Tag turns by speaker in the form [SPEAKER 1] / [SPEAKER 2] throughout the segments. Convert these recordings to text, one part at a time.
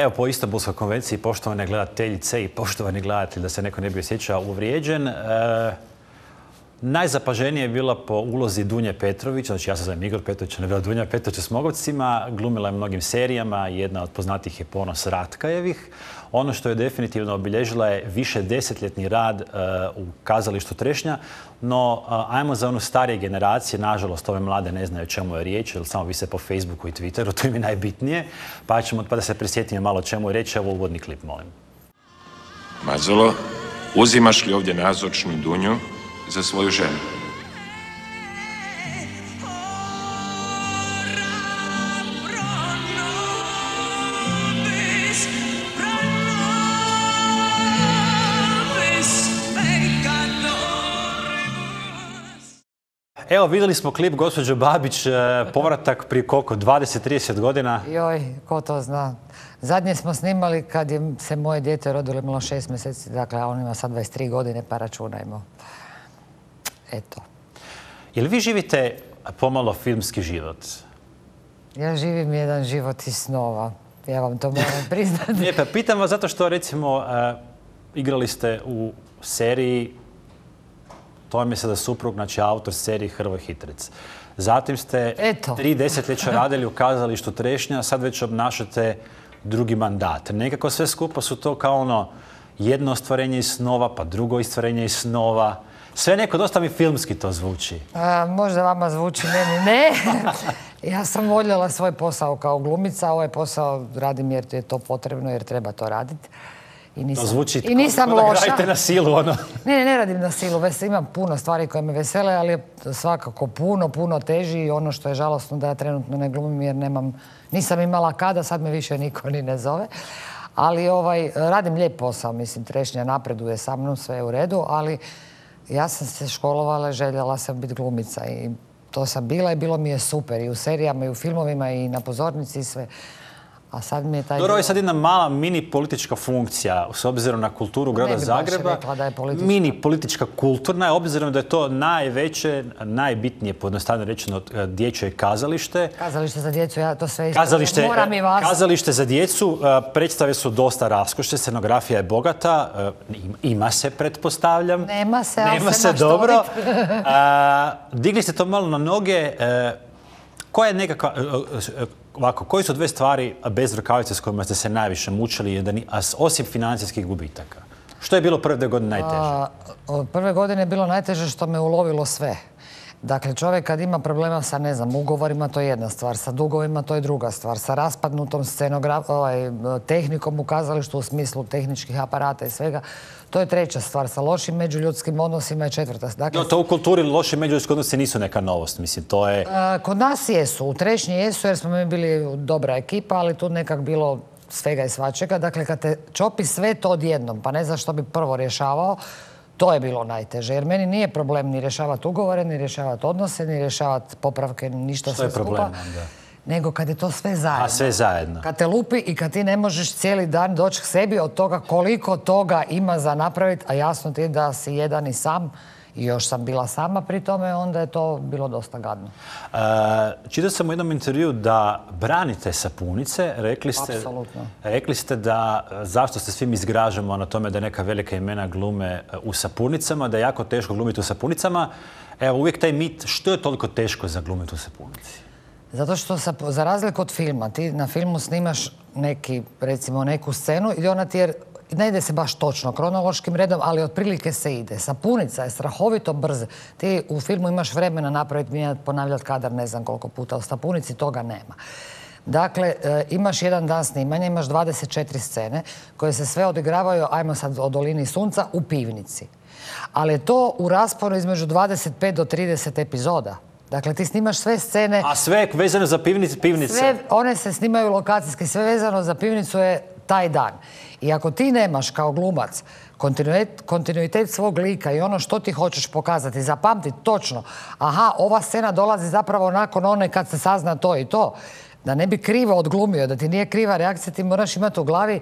[SPEAKER 1] Evo, po Istanbulskoj konvenciji, poštovane gledateljice i poštovani gledatelji, da se neko ne bi osjećao uvrijeđen, najzapaženije je bila po ulozi Dunje Petrović, znači ja se zovem Igor Petrović, ona je bila Dunja Petrović u Smogovcima, glumila je mnogim serijama, jedna od poznatijih je Ponos Ratkajevih. Ono što je definitivno obilježila je više desetljetni rad u kazalištu Trešnja, no ajmo za onu starije generacije, nažalost ove mlade ne znaju o čemu je riječ, jer samo vise po Facebooku i Twitteru, to im je najbitnije, pa da se prisjetimo malo o čemu je riječ. Evo uvodni klip, molim.
[SPEAKER 2] Mazolo, uzimaš li ovdje nazočnu Dunju za svoju ženu?
[SPEAKER 1] Evo, vidjeli smo klip gospođo Babić, povratak prije koliko, 20-30 godina?
[SPEAKER 3] Joj, ko to zna. Zadnje smo snimali kad je se moje dijete rodilo, imalo 6 mjeseci, dakle, a on ima sad 23 godine, pa računajmo. Eto.
[SPEAKER 1] Jel vi živite pomalo filmski život?
[SPEAKER 3] Ja živim jedan život iz snova. Ja vam to moram priznati.
[SPEAKER 1] Ne, pa pitam vas zato što, recimo, igrali ste u seriji Tome se da suprug, znači autor serije Hrvoje Hitrec. Zatim ste 3 desetljeća radili u kazalištu Trešnja, sad već obnašate drugi mandat. Nekako sve skupa su to kao ono jedno ostvarenje iz snova, pa drugo ostvarenje iz snova. Sve neko dosta mi filmski to zvuči.
[SPEAKER 3] Možda vama zvuči, meni ne. Ja sam voljela svoj posao kao glumica, ovaj posao radim jer je to potrebno, jer treba to raditi.
[SPEAKER 1] To zvuči
[SPEAKER 3] kao
[SPEAKER 1] da gradite na silu, ono.
[SPEAKER 3] Ne radim na silu. Imam puno stvari koje me vesele, ali je svakako puno teži i ono što je žalostno da ja trenutno ne glumim jer nisam imala kada, sad me više niko ni ne zove. Ali radim lijep posao, mislim, Trešnja napreduje sa mnom, sve je u redu, ali ja sam se školovala, željela sam biti glumica i to sam bila i bilo mi je super i u serijama i u filmovima i na pozornici i sve. A sad mi je taj...
[SPEAKER 1] Dobro, ovo je sad jedna mala mini politička funkcija, s obzirom na kulturu grada Zagreba. Mini politička kulturna, obzirom da je to najveće, najbitnije, pojednostavljeno rečeno, dječje kazalište.
[SPEAKER 3] Kazalište za djecu, ja to sve isto moram i vas.
[SPEAKER 1] Kazalište za djecu, predstave su dosta raskošne, scenografija je bogata, ima se, pretpostavljam.
[SPEAKER 3] Nema se, ali
[SPEAKER 1] se
[SPEAKER 3] maš
[SPEAKER 1] dobro. Digli ste to malo na noge. Koja je nekakva... Ovako, koji su 2 stvari bez rukavice s kojima ste se najviše mučili, osim financijskih gubitaka? Što je bilo prve 2 godine najteže?
[SPEAKER 3] Prve godine je bilo najteže što me ulovilo sve. Dakle, čovjek kad ima problema sa, ne znam, ugovorima, to je jedna stvar, sa dugovima, to je druga stvar, sa raspadnutom tehnikom u kazalištu u smislu tehničkih aparata i svega, to je treća stvar, sa lošim međuljudskim odnosima je četvrta.
[SPEAKER 1] Dakle, to u kulturi loši međuljudski odnosi nisu neka novost, mislim, to je...
[SPEAKER 3] Kod nas jesu, u Trešnji jesu jer smo mi bili dobra ekipa, ali tu nekak bilo svega i svačega. Dakle, kad te čopi sve to odjednom, pa ne znaš što bi prvo rješavao, to je bilo najteže, jer meni nije problem ni rješavati ugovore, ni rješavati odnose, ni rješavati popravke, ništa sve skupa. Što je problem onda? Nego kad je to sve zajedno.
[SPEAKER 1] A sve zajedno.
[SPEAKER 3] Kad te lupi i kad ti ne možeš cijeli dan doći k sebi od toga koliko toga ima za napraviti, a jasno ti je da si jedan i sam, i još sam bila sama pri tome, onda je to bilo dosta gadno.
[SPEAKER 1] Čitao sam u jednom intervju da branite sapunice. Rekli ste da zašto se svim izgražamo na tome da neka velika imena glume u sapunicama, da je jako teško glumiti u sapunicama. Evo, uvijek taj mit, što je toliko teško za glumiti u sapunici?
[SPEAKER 3] Zato što za razliku od filma, ti na filmu snimaš neku scenu i ona ti je, ne ide se baš točno kronološkim redom, ali otprilike se ide. Sapunica je strahovito brza. Ti u filmu imaš vremena napraviti, mijenjati, ponavljati kadar ne znam koliko puta. U sapunici toga nema. Dakle, imaš jedan dan snimanja, imaš 24 scene koje se sve odigravaju, ajmo sad o Dolini sunca, u pivnici. Ali je to u rasponu između 25 do 30 epizoda. Dakle, ti snimaš sve scene...
[SPEAKER 1] A sve vezano za pivnice?
[SPEAKER 3] Sve, one se snimaju lokacijski, sve vezano za pivnicu je taj dan. I ako ti nemaš kao glumac kontinuitet svog lika i ono što ti hoćeš pokazati, zapamtiti točno, aha, ova scena dolazi zapravo nakon one kad se sazna to i to, da ne bi krivo odglumio, da ti nije kriva reakcija, ti moraš imati u glavi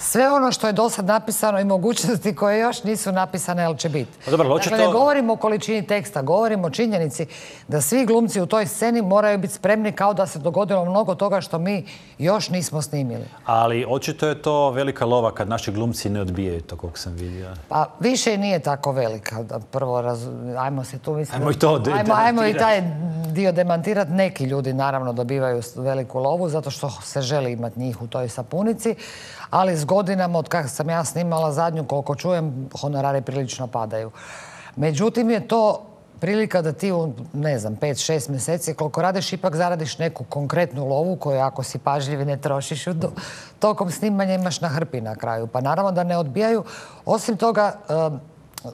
[SPEAKER 3] sve ono što je do sad napisano i mogućnosti koje još nisu napisane, ali će biti. Dakle, ne govorimo o količini teksta, govorimo o činjenici da svi glumci u toj sceni moraju biti spremni kao da se dogodilo mnogo toga što mi još nismo snimili.
[SPEAKER 1] Ali očito je to velika lova kad naši glumci ne odbijaju to, koliko sam vidio.
[SPEAKER 3] Pa više nije tako velika. Prvo, ajmo se tu mislim...
[SPEAKER 1] Ajmo
[SPEAKER 3] i taj dio demantirati. Neki ljudi naravno dobivaju veliku lovu zato što se želi imati njih u toj sapunici, ali s godinama, od kako sam ja snimala zadnju, koliko čujem, honorari prilično padaju. Međutim, je to prilika da ti u, ne znam, 5-6 mjeseci, koliko radiš, ipak zaradiš neku konkretnu lovu koju, ako si pažljiv i ne trošiš tokom snimanja, imaš na hrpi na kraju. Pa naravno da ne odbijaju. Osim toga,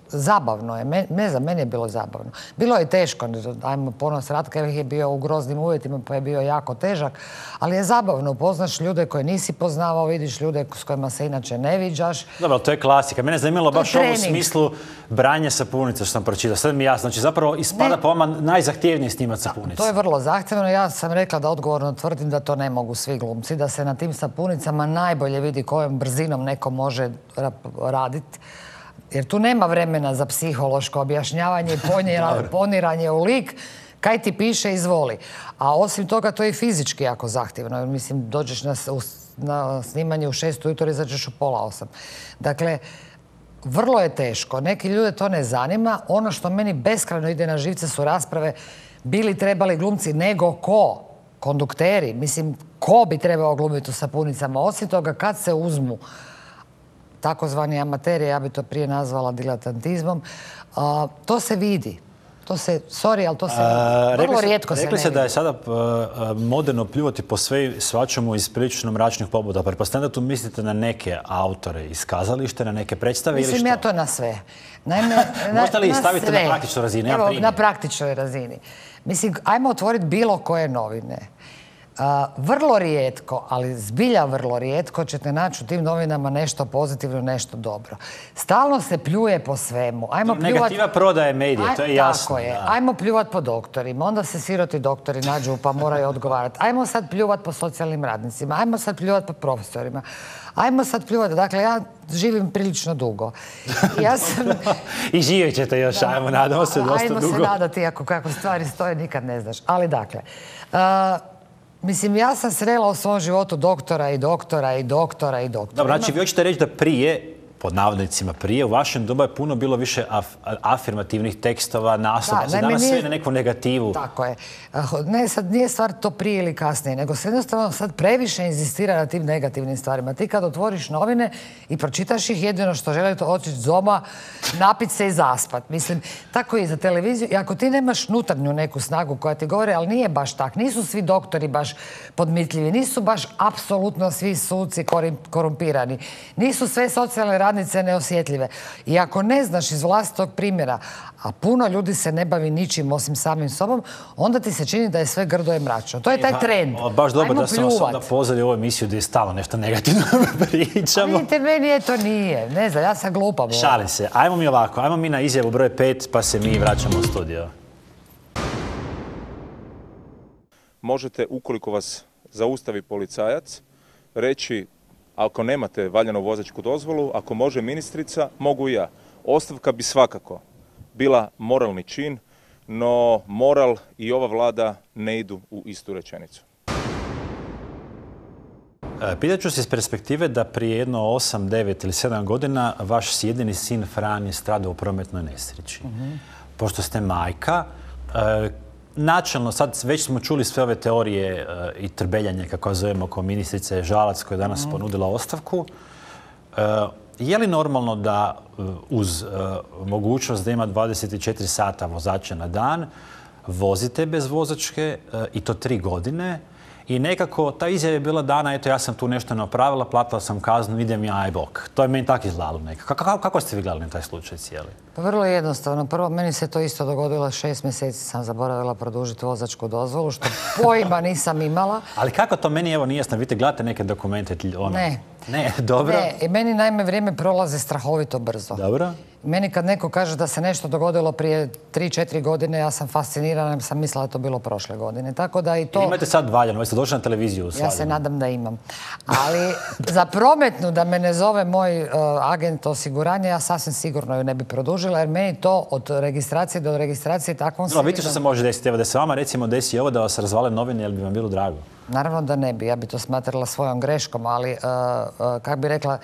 [SPEAKER 3] zabavno je. Ne znam, meni je bilo zabavno. Bilo je teško. Ajmo, Ponos Ratka je bio u groznim uvjetima, pa je bio jako težak. Ali je zabavno. Upoznaš ljude koje nisi poznavao, vidiš ljude s kojima se inače ne viđaš.
[SPEAKER 1] Dobro, to je klasika. Mene je zanimalo baš u smislu branje sapunice što sam pročitao. Sad mi je jasno. Znači, zapravo ispada po vama najzahtjevnije snimati sapunice.
[SPEAKER 3] To je vrlo zahtjevno. Ja sam rekla da odgovorno tvrdim da to ne mogu svi glumci. Da se na tim sapunicama najbolje vidi kojom brzinom neko može raditi. Jer tu nema vremena za psihološko objašnjavanje i poniranje u lik. Kaj ti piše, izvoli. A osim toga, to je i fizički jako zahtjevno. Mislim, dođeš na snimanje u 6 ujutro i izađeš u 7:30. Dakle, vrlo je teško. Neki ljude to ne zanima. Ono što meni beskrajno ide na živce su rasprave bili trebali glumci nego ko? Kondukteri. Mislim, ko bi trebao glumiti u sapunicama? Osim toga, kad se uzmu takozvani amateri, ja bi to prije nazvala diletantizmom, to se vidi. To se, sorry, ali to se vrlo rijetko se ne vidi.
[SPEAKER 1] Rekli se da je sada moderno pljuvati po sve svačemu iz prilično mračnih pobuda. Pretpostavljam da tu mislite na neke autore iz kazališta, na neke predstave ili što?
[SPEAKER 3] Mislim ja to na sve.
[SPEAKER 1] Možete li staviti na praktičnoj razini?
[SPEAKER 3] Evo, na praktičnoj razini. Mislim, ajmo otvoriti bilo koje novine. Vrlo rijetko, ali zbilja vrlo rijetko ćete naći u tim novinama nešto pozitivno, nešto dobro. Stalno se pljuje po svemu.
[SPEAKER 1] Negativa prodaje medije, to je jasno.
[SPEAKER 3] Tako je. Ajmo pljuvat po doktorima, onda se siroti doktori nađu pa moraju odgovarati. Ajmo sad pljuvat po socijalnim radnicima, ajmo sad pljuvat po profesorima. Ajmo sad pljuvati. Dakle, ja živim prilično dugo.
[SPEAKER 1] I živjet ćete još, ajmo, nadamo se dosta dugo.
[SPEAKER 3] Ajmo se nadati, kako stvari stoje, nikad ne znaš. Ali dakle, mislim, ja sam srela u svom životu doktora i doktora i doktora i doktora.
[SPEAKER 1] Dobro, znači vi hoćete reći da prije, pod navodnicima prije, u vašem dobu je puno bilo više afirmativnih tekstova, naslova. Danas sve na neku negativu.
[SPEAKER 3] Tako je. Ne, sad nije stvar to prije ili kasnije, nego se jednostavno sad previše inzistira na tim negativnim stvarima. Ti kad otvoriš novine i pročitaš ih, jedino što želite otići doma, napit se i zaspat. Mislim, tako i za televiziju. I ako ti nemaš unutarnju neku snagu koja ti govori, ali nije baš tak. Nisu svi doktori baš podmitljivi. Nisu baš apsolutno svi suci korumpirani. Nisu sve socijalne radnice neosjetljive. I ako ne znaš iz vlastitog primjera, a puno ljudi se ne bavi ničim osim samim sobom, onda ti se čini da je sve grdo i mračno. To je taj trend.
[SPEAKER 1] Baš dobro da smo vas onda pozvali u ovu emisiju gdje je stalo nešto negativno pričamo.
[SPEAKER 3] Vidite, meni to nije. Ne znam, ja sam glupa.
[SPEAKER 1] Šalim se. Ajmo mi ovako. Ajmo mi na izjavu broj 5 pa se mi vraćamo u studio.
[SPEAKER 4] Možete, ukoliko vas zaustavi policajac, reći ako nemate valjanu vozačku dozvolu, ako može ministrica, mogu i ja. Ostavka bi svakako bila moralni čin, no moral i ova vlada ne idu u istu rečenicu.
[SPEAKER 1] Pitat ću se iz perspektive da prije jedno 8, 9 ili 7 godina vaš jedini sin Fran je stradao u prometnoj nesreći. Pošto ste majka, načelno, sad već smo čuli sve ove teorije i trbeljanje, kako zovemo, oko ministrice Žalac koja je danas ponudila ostavku. Je li normalno da uz mogućnost da ima 24 sata vozača na dan, vozite bez vozačke i to 3 godine i nekako ta izjava je bila dana, eto ja sam tu nešto napravila, platila sam kaznu, idem ja, aj bok. To je meni tako izgledalo nekako. Kako ste vi gledali na taj slučaj cijeli?
[SPEAKER 3] Pa vrlo jednostavno. Prvo, meni se to isto dogodilo, 6 mjeseci sam zaboravila produžiti vozačku dozvolu, što pojma nisam imala.
[SPEAKER 1] Ali kako to meni, evo, nije jasno, vidite, gledate neke dokumente?
[SPEAKER 3] Ne.
[SPEAKER 1] Ne, dobro.
[SPEAKER 3] Ne, meni naime vrijeme prolaze strahovito brzo.
[SPEAKER 1] Dobro.
[SPEAKER 3] Meni kad neko kaže da se nešto dogodilo prije 3-4 godine, ja sam fascinirana, jer sam mislila da je to bilo prošle godine. Tako da i to...
[SPEAKER 1] Imate sad valjano, vi ste došli na televiziju.
[SPEAKER 3] Ja se nadam da imam. Ali za prometnu da me ne zove moj agent osiguranja, ja sasvim sigurno ju ne bi produžila, jer meni to od registracije do registracije takvom se...
[SPEAKER 1] Vidite što se može desiti? Evo da se vama recimo desi ovo da vas razvale novine, jel bi vam bilo drago?
[SPEAKER 3] Naravno da ne bi. Ja bi to smatrala svojom greškom, ali kako bi rekla,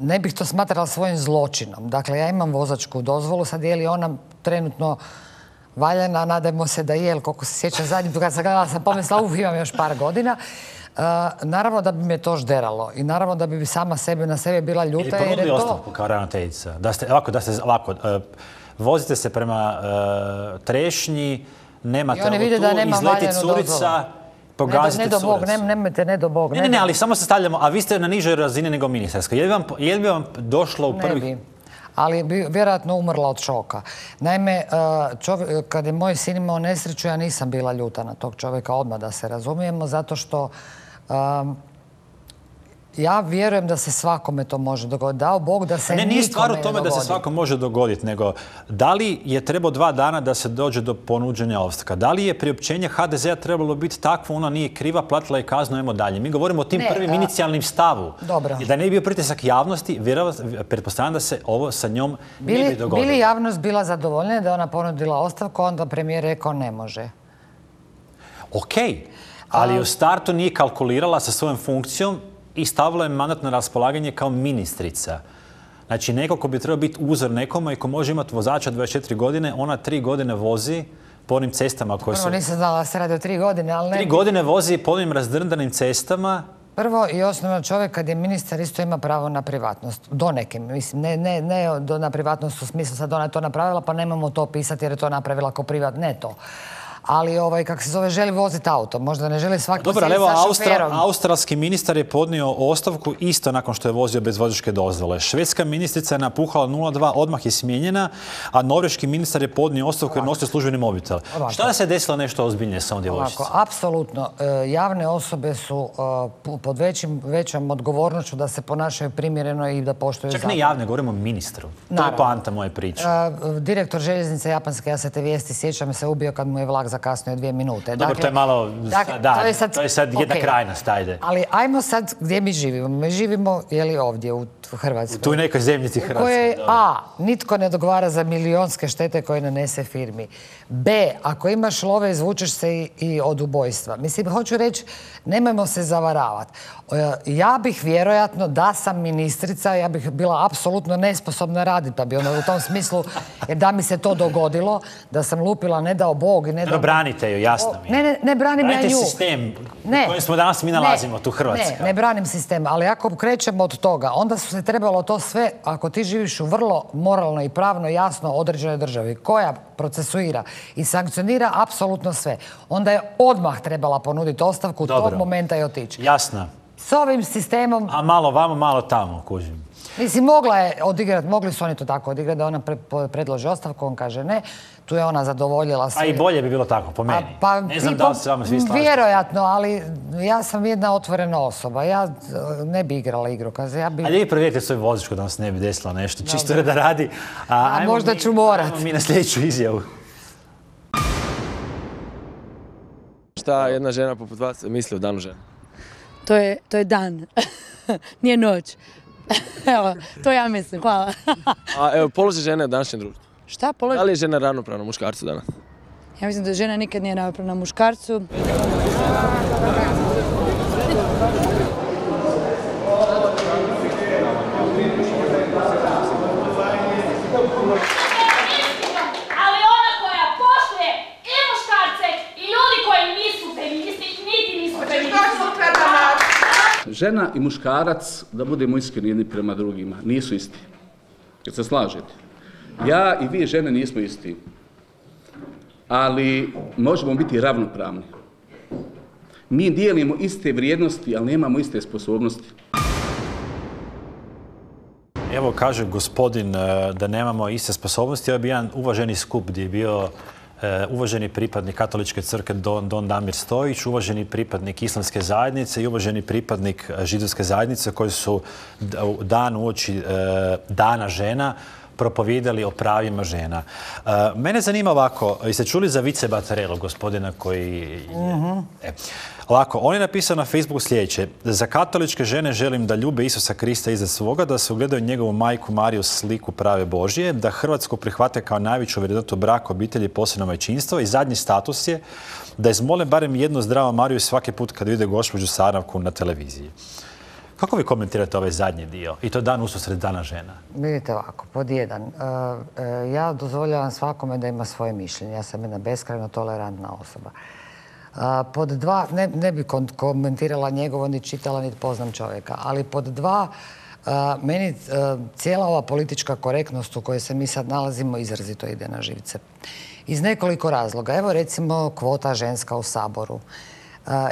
[SPEAKER 3] ne bih to smatrala svojim zločinom. Dakle, ja imam vozačku dozvolu, sad je li ona trenutno valjana, nadajmo se da je, koliko se sjećam zadnji put kad sam gledala, sam pomislila, imam još par godina. Naravno da bi me to žderalo i naravno da bi sama na sebe bila ljuta.
[SPEAKER 1] Ili ponudili ostavku kao ravnateljica? Ovako, vozite se prema Trešnji, nemate ovo tu, izleti curica, pogazite curicu.
[SPEAKER 3] Nemojte, ne do Bog.
[SPEAKER 1] Ne, ali samo se stavljamo, a vi ste na nižoj razini nego ministarska. Je li bi vam došlo u prvih...
[SPEAKER 3] Ne bi, ali bi vjerojatno umrla od šoka. Naime, kad je moj sin imao nesreću, ja nisam bila ljuta na tog čovjeka odmah, da se razumijemo, zato što ja vjerujem da se svakome to može dogoditi. Dao Bog da se nikome ne dogodi. Nije stvar u tome
[SPEAKER 1] da se svakom može dogoditi, nego da li je trebalo 2 dana da se dođe do ponuđenja ostavka? Da li je priopćenje HDZ-a trebalo biti takvo, ona nije kriva, platila je kaznu, ajmo dalje? Mi govorimo o tim prvim inicijalnim stavu.
[SPEAKER 3] Dobro.
[SPEAKER 1] I da ne bi bio pritisak javnosti, pretpostavljam da se ovo sa njom ne bi dogodilo.
[SPEAKER 3] Bili javnost bila zadovoljna da je ona ponudila ostavku, onda premijer rekao ne može.
[SPEAKER 1] Okej, ali u startu nije kalkulirala sa svojom funkcijom i stavila je mandat na raspolaganje kao ministrica. Znači, neko ko bi trebao biti uzor nekome i ko može imati vozača 24 godine, ona 3 godine vozi po onim cestama koje su...
[SPEAKER 3] Prvo nisam znala da se radi o 3 godine, ali ne...
[SPEAKER 1] 3 godine vozi po onim razdrndanim cestama.
[SPEAKER 3] Prvo i osnovno, čovjek kad je ministar isto ima pravo na privatnost. Do neke, mislim, ne na privatnost u smislu sad ona je to napravila pa nemamo to pisati jer je to napravila kao privat, ne to. Ali, kako se zove, želi voziti auto. Možda ne želi svaki
[SPEAKER 1] posjeti sa šoferom. Australski ministar je podnio ostavku isto nakon što je vozio bez vozačke dozvole. Švedska ministrica je napuhala 0,2, odmah je smijenjena, a norveški ministar je podnio ostavku jer nosio službeni mobitel. Šta da se desilo nešto ozbiljnije sa ovom djevojčicom?
[SPEAKER 3] Apsolutno. Javne osobe su pod većom odgovornošću da se ponašaju primjereno i da poštuju zakon.
[SPEAKER 1] Čak ne javne, govorimo o ministru. To je poanta moje priče.
[SPEAKER 3] Direktor željeznice japanske, ja se te vijesti sjećam, se ubio kad mu je vlak zakasnio 2 minute.
[SPEAKER 1] Dobro, to je malo... To je sad jedna krajnost, ajde.
[SPEAKER 3] Ali ajmo sad gdje mi živimo. Mi živimo, ovdje u Hrvatskoj.
[SPEAKER 1] U tu nekoj zemljici Hrvatske.
[SPEAKER 3] U kojoj A, nitko ne dogovara za milionske štete koje nanese firmi. B, ako imaš love, izvučeš se i od ubojstva. Mislim, hoću reći, nemojmo se zavaravati. Ja bih vjerojatno, da sam ministrica, ja bih bila apsolutno nesposobna raditi, pa bi ono u tom smislu, jer da mi se to dogodilo, da sam lupila, ne dao Bog i ne dao...
[SPEAKER 1] Branite ju, jasno mi je.
[SPEAKER 3] Ne branim ja nju.
[SPEAKER 1] Branite sistem u kojem smo danas mi nalazimo, tu Hrvatska.
[SPEAKER 3] Ne branim sistem, ali ako krećemo od toga, onda su se trebalo to sve, ako ti živiš u vrlo moralno i pravno jasno određenoj državi, koja procesuira i sankcionira apsolutno sve, onda je odmah trebala ponuditi ostavku tog momenta i otići.
[SPEAKER 1] Jasno.
[SPEAKER 3] S ovim sistemom...
[SPEAKER 1] A malo vamo, malo tamo, kužim.
[SPEAKER 3] Mislim, mogla je odigrati, mogli su oni to tako odigrati, da ona predloži ostavku, on kaže ne, tu je ona zadovoljila sve.
[SPEAKER 1] A i bolje bi bilo tako, po meni. Ne znam da li se vama svi slažete.
[SPEAKER 3] Vjerojatno, ali ja sam jedna otvorena osoba. Ja ne bi igrala igru.
[SPEAKER 1] Ali vi provjerite svoju vozačku da vam se ne bi desilo nešto, čisto da radi.
[SPEAKER 3] A možda ću morat.
[SPEAKER 1] Ajmo mi na sljedeću izjavu.
[SPEAKER 5] Šta jedna žena poput vas misli o danu žene?
[SPEAKER 6] To je dan, nije noć. Evo, to ja mislim, hvala.
[SPEAKER 5] A evo, položaj žene u današnjem društvu.
[SPEAKER 6] Šta položaj?
[SPEAKER 5] Da li je žena ravnopravna muškarcu danas?
[SPEAKER 6] Ja mislim da žena nikad nije ravnopravna muškarcu.
[SPEAKER 7] Ali ona koja poštuje i muškarce i ljudi koji nisu feministi, niti nisu feministi.
[SPEAKER 8] Žena i muškarac, da budemo iskreni jedni prema drugima, nisu isti. Jer se slažete. Ja i vi žene nismo isti. Ali možemo biti ravnopravni. Mi dijelimo iste vrijednosti, ali nemamo iste sposobnosti.
[SPEAKER 1] Evo kaže gospodin da nemamo iste sposobnosti. Ovo je bio jedan uvaženi skup gdje je bio uvaženi pripadnik Katoličke crkve Don Damir Stojić, uvaženi pripadnik Islamske zajednice i uvaženi pripadnik Židovske zajednice koji su dan uoči Dana žena propovijedali o pravima žena. Mene zanima ovako, jeste čuli za Vice Battarellu, gospodina koji... Ovako, on je napisao na Facebooku sljedeće. Za katoličke žene želim da ljube Isusa Krista iza svoga, da se ugledaju njegovu majku Mariju sliku prave Božije, da Hrvatsku prihvate kao najveću vrednotu braka, obitelji i posebno majčinstvo. I zadnji status je da izmole barem jednu zdravu Mariju svaki put kad vide gospođu Sarnavku na televiziji. Kako vi komentirate ovaj zadnji dio? I to dan ususred Dana žena.
[SPEAKER 3] Vidite ovako, pod jedan. Ja dozvoljavam svakome da ima svoje mišljenje. Ja sam jedna beskrajno tolerantna osoba. Pod dva, ne bi komentirala njegovo, ni čitala, ni poznam čovjeka, ali pod dva, meni cijela ova politička korektnost u kojoj se mi sad nalazimo izrazito ide na živce. Iz nekoliko razloga. Evo recimo kvota ženska u Saboru.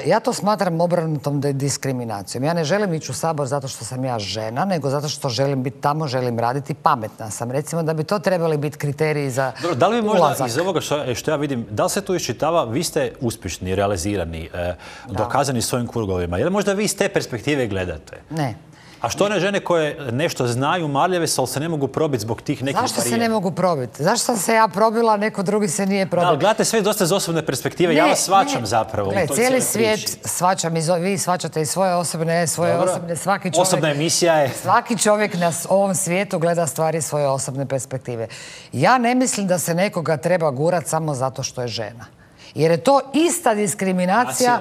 [SPEAKER 3] Ja to smatram obrnutom diskriminacijom. Ja ne želim ići u Sabor zato što sam ja žena, nego zato što želim biti tamo, želim raditi, pametna sam. Recimo da bi to trebali biti kriteriji za ulazak.
[SPEAKER 1] Da li vi možda iz ovoga što ja vidim, da li se tu iščitava, vi ste uspješni, realizirani, dokazani svojim krugovima. Jel možda vi iz te perspektive gledate?
[SPEAKER 3] Ne.
[SPEAKER 1] A što one žene koje nešto znaju, marljave se, ali se ne mogu probiti zbog tih nekih
[SPEAKER 3] Zašto se ne mogu probiti? Zašto sam se ja probila, neko drugi se nije probio?
[SPEAKER 1] Da, ali gledate sve dosta iz osobne perspektive. Ja vas shvaćam zapravo.
[SPEAKER 3] Gle, cijeli svijet shvaćam, vi shvaćate i svoje osobne, svaki čovjek...
[SPEAKER 1] Osobna emisija je...
[SPEAKER 3] Svaki čovjek na ovom svijetu gleda stvari iz svoje osobne perspektive. Ja ne mislim da se nekoga treba gurati samo zato što je žena. Jer je to ista diskriminacija,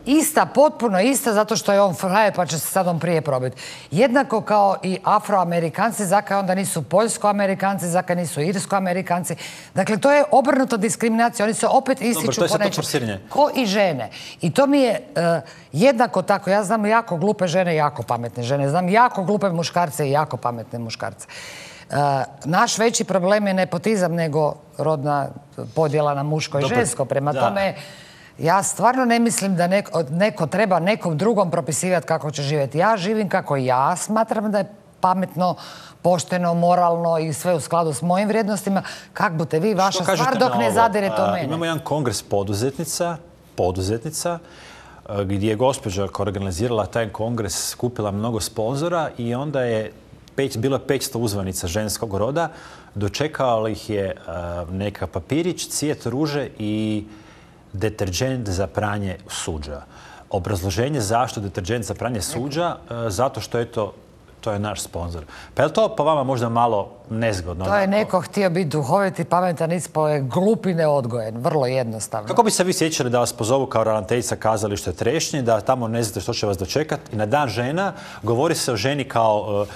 [SPEAKER 3] ista, potpuno ista, zato što je on frajer pa će se sad on prije probiti. Jednako kao i Afroamerikanci, zakaj onda nisu Poljsko-Amerikanci, zakaj nisu Irsko-Amerikanci. Dakle, to je obrnuta diskriminacija. Oni se opet ističu po nečem. Ko i žene. I to mi je jednako tako. Ja znam jako glupe žene i jako pametne žene. Znam jako glupe muškarce i jako pametne muškarce. Naš veći problem je nepotizam nego rodna podjela na muško i žensko. Prema tome, ja stvarno ne mislim da neko treba nekom drugom propisivati kako će živjeti. Ja živim kako ja smatram da je pametno, pošteno, moralno i sve u skladu s mojim vrijednostima. Kak budete vi, vaša stvar dok ne zadirete u mene.
[SPEAKER 1] Imamo jedan kongres poduzetnica, gdje je gospođa koja organizirala taj kongres skupila mnogo sponzora i onda je bilo je 500 uzvanica ženskog roda, dočekao ih je neka papirić, cvijet ruže i deterđent za pranje suđa. Obrazloženje zašto deterđent za pranje suđa, zato što je to je naš sponzor. Pa je li to po vama možda malo nezgodno?
[SPEAKER 3] To je neko htio biti duhovit i pametan, ispao je glup i neodgojen. Vrlo jednostavno.
[SPEAKER 1] Kako bi se vi sjećali da vas pozovu kao ravnateljica kazališta Trešnje, da tamo ne znate što će vas dočekati i na Dan žena govori se o ženi kao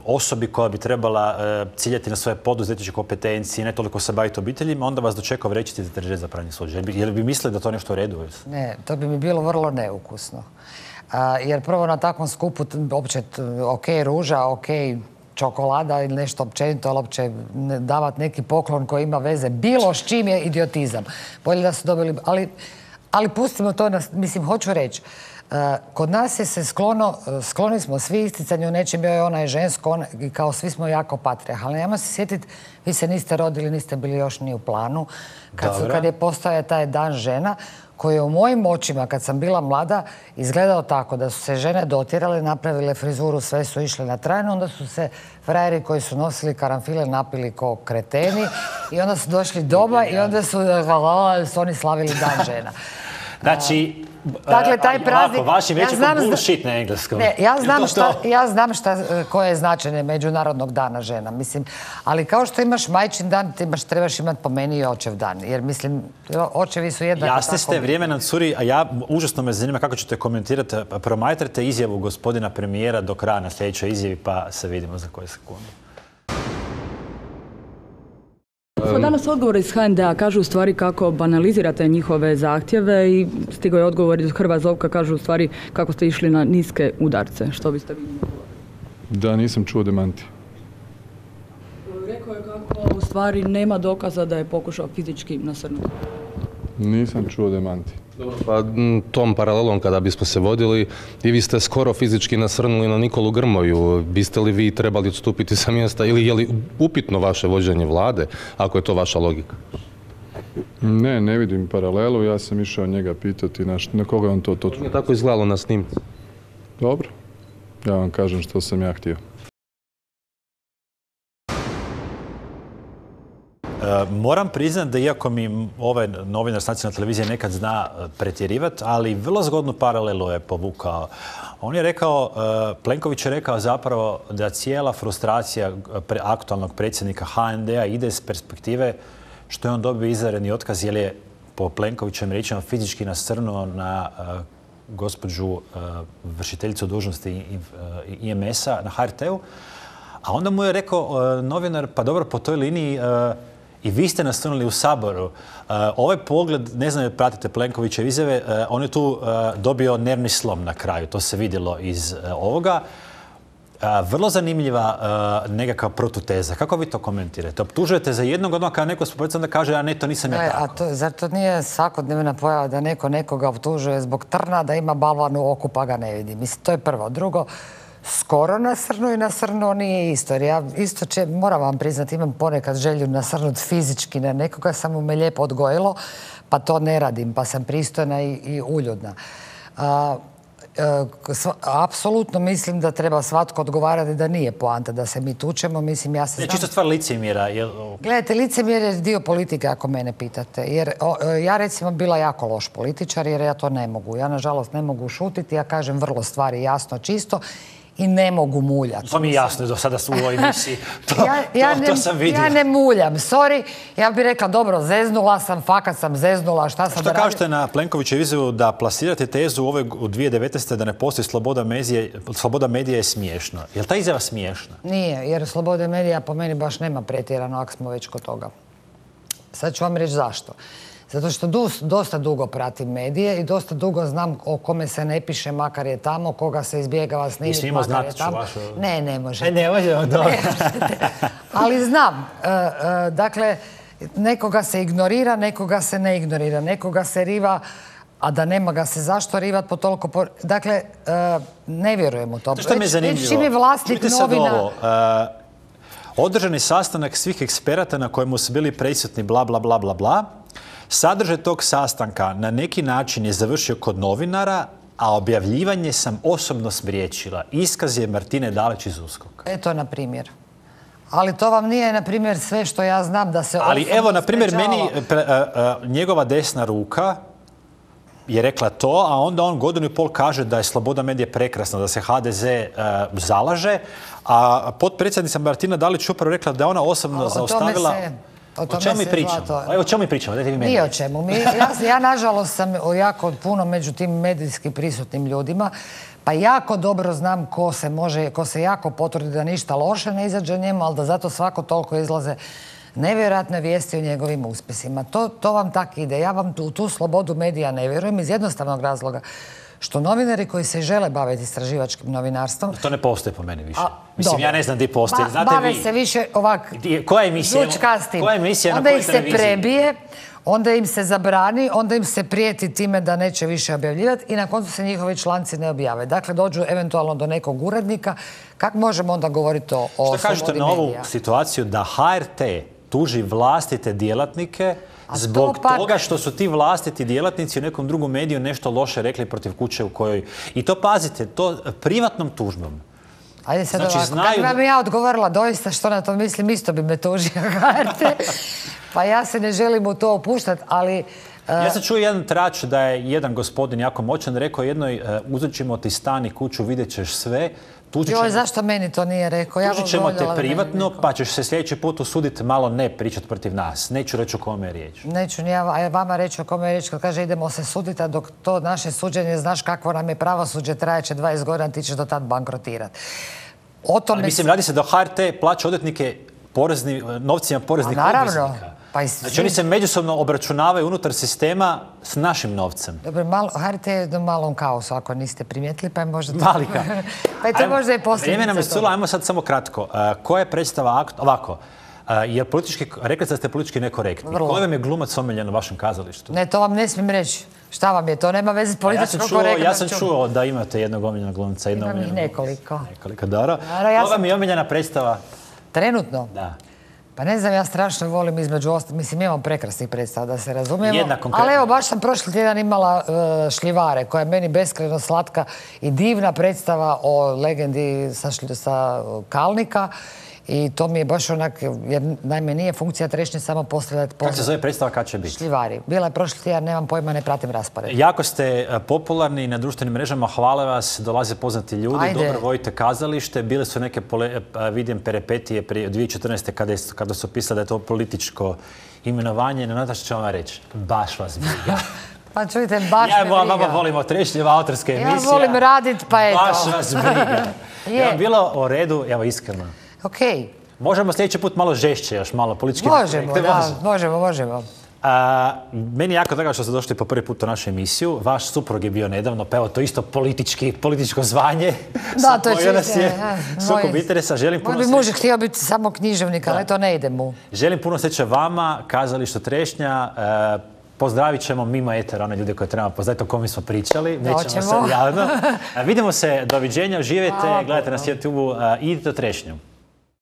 [SPEAKER 1] osobi koja bi trebala ciljati na svoje poduzetničke kompetencije, ne toliko se baviti obiteljima, onda vas dočekao vrećiti deterđent za pranje suđa. Jel bi mislili da to nešto u redu?
[SPEAKER 3] Ne, to bi mi bilo vrlo neukusno. Jer prvo na takvom skupu opće ok ruža, ok čokolada ili nešto općenito, ali opće davati neki poklon koji ima veze bilo s čim je idiotizam. Bolje da su dobili... Ali pustimo to, mislim, hoću reći. Kod nas je se skloni smo svi isticanju nečim, bio je ona je žensko, i kao svi smo jako patrijarhalni. Ajmo se sjetiti, vi se niste rodili, niste bili još ni u planu, kad je postojao taj Dan žena, koji je u mojim očima, kad sam bila mlada, izgledao tako da su se žene dotjerale, napravile frizuru, sve su išle na trajno, onda su se frajeri koji su nosili karanfile napili ko kreteni i onda su došli doma i onda su oni slavili Dan žena.
[SPEAKER 1] Znači,
[SPEAKER 3] dakle, taj praznik...
[SPEAKER 1] Vaši već je bullshit na engleskom.
[SPEAKER 3] Ne, ja znam koje je značenje Međunarodnog dana žena, mislim. Ali kao što imaš majčin dan, trebaš imati po meni i očev dan. Jer, mislim, očevi su jednako tako...
[SPEAKER 1] Jasni ste, vrijeme nam curi, a užasno me zanima kako ćete komentirati. Promatrate izjavu gospodina premijera do kraja na sljedećoj izjavi, pa se vidimo za koje sekunde.
[SPEAKER 9] Danas odgovor iz HND-a kažu u stvari kako banalizirate njihove zahtjeve i stigao je odgovor iz Hrva Zovka, kažu u stvari kako ste išli na niske udarce. Što biste vi?
[SPEAKER 10] Da, nisam čuo demanti.
[SPEAKER 9] Rekao je kako u stvari nema dokaza da je pokušao fizički nasrnuti.
[SPEAKER 10] Nisam čuo demanti.
[SPEAKER 11] Dobro, pa tom paralelom kada bismo se vodili, i vi ste skoro fizički nasrnuli na Nikolu Grmoju. Biste li vi trebali odstupiti sa mjesta ili je li upitno vaše vođenje vlade, ako je to vaša logika?
[SPEAKER 10] Ne vidim paralelu. Ja sam išao njega pitati na koga je on to točno.
[SPEAKER 11] Tako izgledalo na snimci.
[SPEAKER 10] Dobro. Ja vam kažem što sam ja htio.
[SPEAKER 1] Moram priznati da iako mi ovaj novinar s nacionalne televizije nekad zna pretjerivati, ali vrlo zgodnu paralelu je povukao. On je rekao, Plenković je rekao zapravo da cijela frustracija aktualnog predsjednika HND-a ide iz perspektive što je on dobio izvanredni otkaz jer je po Plenkovićem riječima fizički nasrnuo na gospođu vršiteljicu dužnosti IMS-a na HRT-u. A onda mu je rekao novinar, pa dobro, po toj liniji i vi ste nasrnuli u Saboru. Ovaj pogled, ne znam, pratite Plenkovićeve izjave, on je tu dobio nervni slom na kraju. To se vidjelo iz ovoga. Vrlo zanimljiva nekakva protuteza. Kako vi to komentirate? Optužujete za jednog, odmah kada neko spomenuti, onda kaže, a ne, to nisam ja tako.
[SPEAKER 3] Zar to nije svakodnevna pojava da neko nekoga optužuje zbog trna, da ima balvan u oku pa ga ne vidi? Mislim, to je prvo. Drugo, skoro nasrnuo i nasrnuo nije isto. Jer ja isto moram vam priznati, imam ponekad želju nasrnuti fizički na nekoga, samo me lijepo odgojilo, pa to ne radim, pa sam pristojna i uljudna. Apsolutno mislim da treba svatko odgovarati da nije poanta da se mi tučemo. Mislim, ja se znam...
[SPEAKER 1] Čisto stvar licemjera.
[SPEAKER 3] Gledajte, licemjer je dio politike ako mene pitate. Jer ja recimo bila jako loš političar jer ja to ne mogu. Ja nažalost ne mogu šutiti, ja kažem vrlo stvari jasno, čisto i ne mogu muljati.
[SPEAKER 1] To mi je jasno do sada u ovoj emisiji. To sam vidio.
[SPEAKER 3] Ja ne muljam, sorry. Ja bih rekla, dobro, zeznula sam, fakat sam zeznula, šta sam da radim.
[SPEAKER 1] Što kažete na Plenkovićevu izjavu da plasirate tezu u 2019. da ne postoji sloboda medija je smiješno. Je li ta izjava smiješna?
[SPEAKER 3] Nije, jer slobode medija po meni baš nema pretjerano ako smo već kod toga. Sad ću vam reći zašto. Zato što dosta dugo pratim medije i dosta dugo znam o kome se ne piše, makar je tamo, koga se izbjegava snimiti, makar je tamo. Ne možete.
[SPEAKER 1] Ne možemo, dobro.
[SPEAKER 3] Ali znam. Dakle, nekoga se ignorira, nekoga se ne ignorira, nekoga se riva, a da nema ga se zašto rivat po toliko... Dakle, ne vjerujem u to.
[SPEAKER 1] Što mi je zanimljivo?
[SPEAKER 3] Čim je vlasnik novina...
[SPEAKER 1] Održani sastanak svih eksperata na kojemu su bili prisutni bla, bla, bla, bla, bla. Sadržaj tog sastanka na neki način je završio kod novinara, a objavljivanje sam osobno spriječila. Iskaz je Martine Dalić iz USKOK-a.
[SPEAKER 3] Eto, na primjer. Ali to vam nije, na primjer, sve što ja znam da se
[SPEAKER 1] ali evo, na primjer, meni njegova desna ruka je rekla to, a onda on godinu i pol kaže da je sloboda medija prekrasna, da se HDZ zalaže, a potpredsjednica Martina Dalić upravo rekla da je ona osobno zaustavila... O čemu mi pričamo? O čemu mi pričamo?
[SPEAKER 3] Ni o čemu. Ja nažalost sam jako puno među tim medijski prisutnim ljudima, pa jako dobro znam ko se jako potrudi da ništa loše ne izađe njemu, ali da zato svako toliko izlaze nevjerojatne vijesti o njegovim uspjesima. To vam tak ide. Ja vam u tu slobodu medija ne vjerujem iz jednostavnog razloga što novinari koji se žele baviti istraživačkim novinarstvom...
[SPEAKER 1] To ne postoji po meni više. Mislim, ja ne znam gdje postoji.
[SPEAKER 3] Bave se više ovak...
[SPEAKER 1] Koja emisija na
[SPEAKER 3] onda
[SPEAKER 1] kojoj
[SPEAKER 3] ih se
[SPEAKER 1] televiziji?
[SPEAKER 3] prebije, onda im se zabrani, onda im se prijeti time da neće više objavljivati i na koncu se njihovi članci ne objave. Dakle, dođu eventualno do nekog urednika. Kako možemo onda govoriti o slobodi medija?
[SPEAKER 1] Što kažete na ovu situaciju da HRT tuži vlastite djelatnike zbog toga što su ti vlastiti djelatnici u nekom drugom mediju nešto loše rekli protiv kuće u kojoj... I to pazite, to privatnom tužbom.
[SPEAKER 3] Ajde sad ovako, kako vam ja odgovorila doista što na to mislim, isto bi me tužio HRT. Pa ja se ne želim u to opuštati, ali...
[SPEAKER 1] Ja sam čuo jedan trač da je jedan gospodin jako moćan rekao jednoj uzet ćemo ti stan i kuću, vidjet ćeš sve.
[SPEAKER 3] Joj, zašto meni to nije rekao?
[SPEAKER 1] Tužit ćemo te privatno, pa ćeš se sljedeći put usuditi malo ne pričati protiv nas. Neću reći o kome je riječ.
[SPEAKER 3] Neću ni ja vama reći o kome je riječ kad kaže idemo se suditi, a dok to naše suđenje, znaš kakvo nam je pravosuđe, trajeće 20 godina, ti ćeš do tad bankrotirati.
[SPEAKER 1] Mislim, radi se da HRT plaća odvjetnike novcima poreznih obveznika. Znači oni se međusobno obračunavaju unutar sistema s našim novcem.
[SPEAKER 3] Dobro, HRT je u malom kaosu, ako niste primijetili, pa je možda...
[SPEAKER 1] Mali kaos.
[SPEAKER 3] Pa je to možda i posljedica.
[SPEAKER 1] Vrijeme nam je curo, ajmo sad samo kratko. Koja je predstava ovako? Jer rekli ste da ste politički nekorektni. Koji vam je glumac omiljen u vašem kazalištu?
[SPEAKER 3] Ne, to vam ne smijem reći. Šta vam je? To nema veze s političkom korektnošću.
[SPEAKER 1] Ja sam čuo da imate jednog omiljenog glumca.
[SPEAKER 3] Imam ih nekoliko.
[SPEAKER 1] Nekoliko, dobro. Koja vam je omiljena predstava?
[SPEAKER 3] Trenutno?
[SPEAKER 1] Da.
[SPEAKER 3] Pa ne znam, ja strašno volim između ostalih. Mislim, imam prekrasnih predstava, da se razumijemo. Ali evo, baš sam prošli tjedan imala Šljivare, koja je meni beskrajno slatka i divna predstava o legendi sa Kalnika. I to mi je baš onak, jer naime nije funkcija trešnje samo postavljati
[SPEAKER 1] Kako se zove predstava, kad će biti?
[SPEAKER 3] Šljivari. Bila je prošli tjedan, nemam pojma, ne pratim raspored.
[SPEAKER 1] Jako ste popularni na društvenim mrežama, hvale vas, dolaze poznati ljudi, dobro vodite kazalište, bile su neke, vidim, peripetije prije 2014. kada su pisali da je to političko imenovanje. Ne znate što ću vam reći, baš vas briga.
[SPEAKER 3] Pa čujte, baš me briga.
[SPEAKER 1] Ja volimo trešnjeva autorske emisije.
[SPEAKER 3] Ja volim radit, pa eto.
[SPEAKER 1] Baš vas briga. Je bilo u redu, evo iskreno.
[SPEAKER 3] Okej.
[SPEAKER 1] Možemo sljedeći put malo žešće, još malo politički.
[SPEAKER 3] Možemo.
[SPEAKER 1] Meni je jako drago što ste došli po prvi put u našu emisiju. Vaš suprug je bio nedavno, pa evo to isto političko zvanje.
[SPEAKER 3] Da, to je čiste.
[SPEAKER 1] Sukob interesa. Želim puno
[SPEAKER 3] sreće. Moj muž htio biti samo književnik, ali to ne ide mu.
[SPEAKER 1] Želim puno sreće vama, kazalištu Trešnja. Pozdravit ćemo mimo etera one ljude koje trebamo pozdraviti, o kome smo pričali. Nećemo sad javno. Vidimo se, doviđenja, uživajte, gledajte nas na YouTube-u i idite u Trešnju.